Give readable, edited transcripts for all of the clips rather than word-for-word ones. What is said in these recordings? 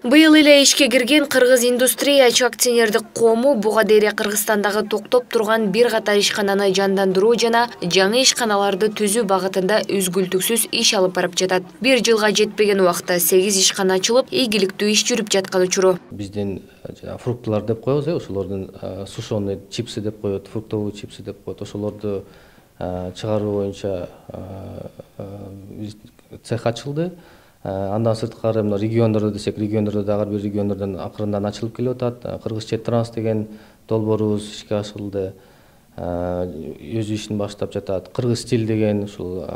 Быйыл эле ишке кирген Кыргыз индустрия акционердик коому буга дейре Кыргызстандагы токтоп турган бир катар ишкананы жандандыруу жана жаңы ишканаларды түзүү багытында үзгүлтүксүз иш алып барып жатат. Бир жылга жетпеген убакта 8 ишкана ачылып, ийгиликтүү иш жүрүп жаткан учуру. Биздин фруктылар деп коебуз, ошолордун сушеный чипсы деп коет, фруктовый чипсы деп коет. Ошолорду чыгаруу боюнча цех ачылды. Андан сырткары мына региондордо десек, региондордо дагы бир региондордон акырындан ачылып келип атат. Кыргызчет транс деген долбоорубуз ишке ашырылды. Өз ишин баштап жатат. Кыргыз стиль деген ушул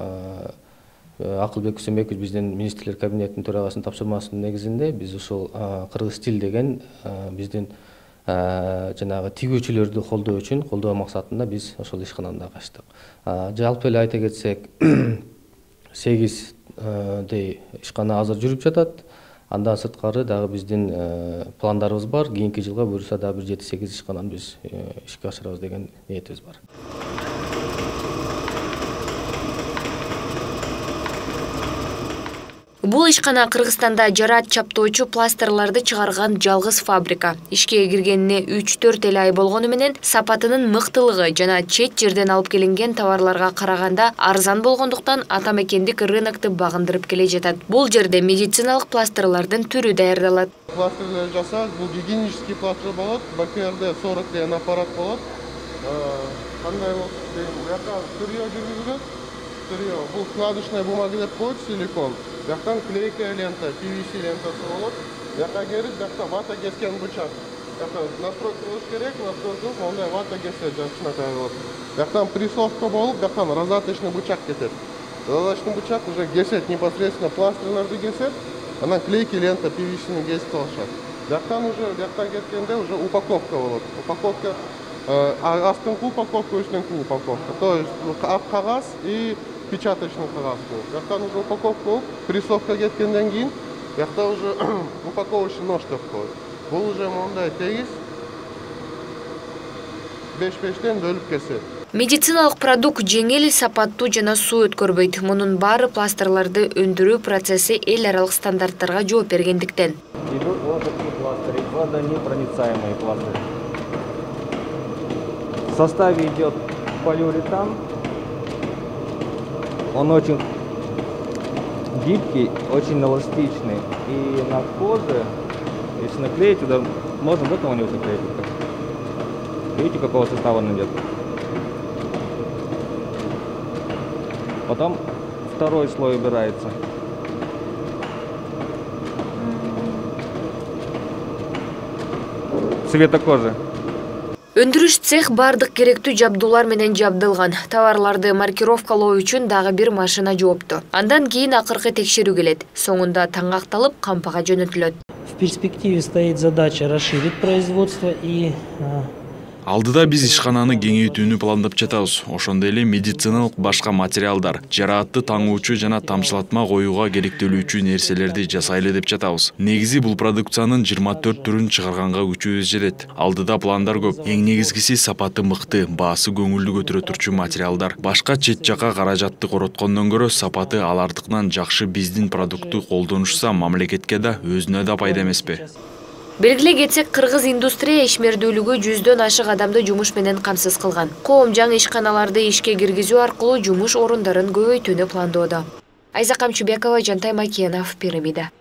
Акылбек Үсөнбеков биздин министрлер кабинетинин төрагасынын тапшырмасынын негизинде биз ушул Кыргыз стиль деген биздин жанагы тигүүчүлөрдү колдоо максатында биз ошол ишкананы дагы ачтык. Жалпы эле айта кетсек, 8 ишкана азыр жүрүп жатат. Андан сырткары дагы биздин пландарыбыз бар. Кийинки жылга буюрса дагы 7-8 ишкананы биз ишке ашырабыз деген ниетибиз бар. Бул ишкана Кыргызстанда жараат чаптоочу пластырларды чыгарган жалгыз фабрика. Ишке киргенине 3-4 эле ай болгону менен сапатынын мыктылыгы жана чет жерден алып келинген товарларга караганда арзан болгондуктан ата мекендик рынокту багындырып келе жатат. Бул жерде медициналык пластырлардын түрү даярдалат. Пластырлар жасалат, бул гигиенический пластыр болот, БКРД-40 деген аппарат болот. Кандай болот дейм, буяка тырьё жүргүзүлөт. Бул складочная бумага деп коет, силикон. Бияктан клейкая лента, PVC лентасы болот. Бияка келип, биякта вата кескен бычак. Бияка настройка кылыш керек, настройка мондай вата кессе жакшынакай болот. Бияктан прессовка болуп, бияктан раздаточный бычак кетет. Раздаточный бычак уже кесет непосредственно пластырларды кесет, анан клейки лента PVC-ни кесип алышат. Бияктан кеткенде уже упаковка болот. Упаковка астыңкы упаковка, үстүнкү упаковка. То есть кагаз и печаточный кагаз болот. Бияктан уже упаковка болуп, прессовка кеткенден кийин, биякта уже упаковочный нож деп коет. Бул уже мондай тегиз 5-5тен бөлүп кесет. Медициналык продукт жеңил, сапаттуу жана суу өткөрбөйт. Мунун баары пластырларды өндүрүү процесси эл аралык стандарттарга жооп бергендиктен. Идут вот такие пластыри, водонепроницаемые пластыри. В составе идет полиуретан. Он очень гибкий, очень эластичный. И на коже, если наклеить, туда можно до кого-нибудь наклеить. Видите, какого состава он идет? Потом второй слой убирается. Цвета кожи. Өндүрүш цех бардык керектүү жабдуулар менен жабдылган. Товарларды маркировкалоо үчүн дагы бир машина жоопту. Андан кийин акыркы текшерүү келет. Соңунда таңакталып, кампага жөнөтүлөт. В перспективе стоит задача расширить производство и Алдыда биз ишкананы кеңейтүүнү пландап жатабыз. Ошондой эле медициналык башка материалдар, жараатты таңуучу жана тамчылатма коюуга керектелүүчү нерселерди жасайлы деп жатабыз. Негизи бул продукциянын 24 түрүн чыгарганга күчүбүз жетет. Алдыда пландар көп. Эң негизгиси сапаты мыкты, баасы көңүлдү көтөрө турчу материалдар. Башка чет жака каражатты короткондон көрө сапаты алардыкынан жакшы биздин продуктты колдонушса мамлекетке да өзүнө да пайда эмеспи? Белгилей кетсек, Кыргыз индустрия ишмердүүлүгү 100дөн ашык адамды жумуш менен камсыз кылган. Коом жаңы ишканаларды ишке киргизүү аркылуу жумуш орундарын көбөйтүүнү пландоодо. Айза Камчыбекова, Жантай Макенов, Пирамида.